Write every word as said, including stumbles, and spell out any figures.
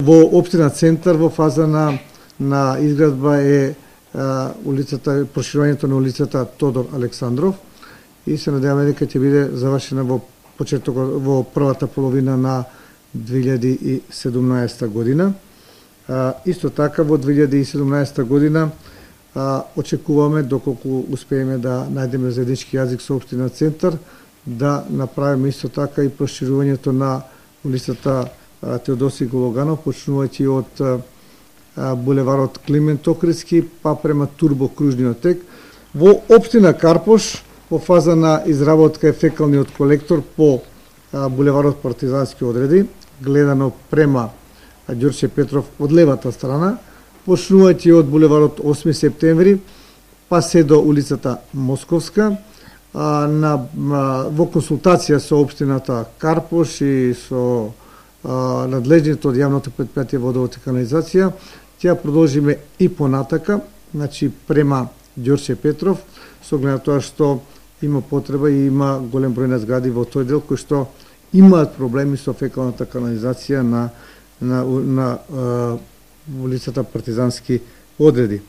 Во општина Центар во фаза на на изградба е а, улицата, проширувањето на улицата Тодор Александров и се надеваме дека ќе биде завршена во почетокот во првата половина на две илјади и седумнаесета година. А, исто така во две илјади и седумнаесета година а, очекуваме, доколку успееме да најдеме заеднички јазик со општина Центар, да направиме исто така и проширувањето на улицата Теодосиј Гологанов, почнувајќи од а, булеварот Климент Охридски па према Турбо кружниот тек. Во општина Карпош во фаза на изработка е фекалниот колектор по а, булеварот Партизански одреди, гледано према Ѓорче Петров од левата страна, почнувајќи од булеварот осми септември, па се до улицата Московска, а, на, а, во консултација со општината Карпош и со а, надлежните од јавното претпријатие Водовод и канализација, ќе продолжиме и понатака, значи према Ѓорче Петров, со оглед на тоа што има потреба и има голем број на згради во тој дел кои што имаат проблеми со фекалната канализација на на, на, на улицата Партизански одреди.